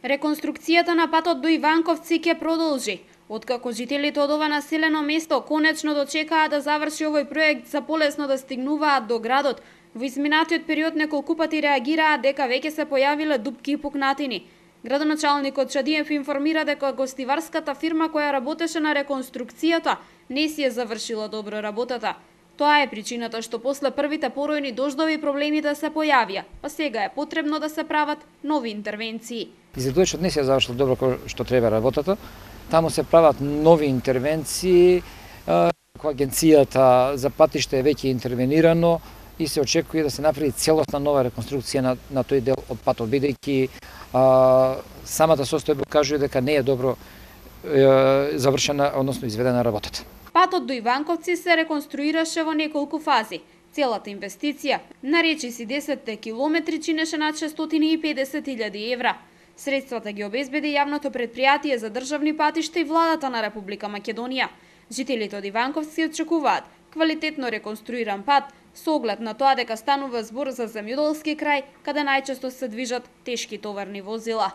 Реконструкцијата на патот до Иванковци ќе продолжи. Откако жителите од ова населено место конечно дочекаа да заврши овој проект за полесно да стигнуваат до градот, во изминатиот период неколку пати реагираа дека веќе се појавиле дупки и пукнатини. Градоначалникот Шадиев информира дека гостиварската фирма која работеше на реконструкцијата не си е завршила добро работата. Тоа е причината што после првите поројни дождови проблемите се појавија, па сега е потребно да се прават нови интервенции. Изведувачот не се завршил добро како што треба работата. Таму се прават нови интервенции, кога агенцијата за патишта е веќе интервенирано и се очекува да се направи целосна нова реконструкција на тој дел од патот, бидејќи самата состојба кажува дека не е добро завршена, односно изведена работата. Патот до Иванковци се реконструираше во неколку фази. Целата инвестиција, наречи си 10 километри, чинеше над 650.000 евра. Средствата ги обезбеди јавното предпријатие за државни патишта и владата на Република Македонија. Жителите од Иванковци очекуваат квалитетно реконструиран пат со оглед на тоа дека станува збор за земјоделски крај каде најчесто се движат тешки товарни возила.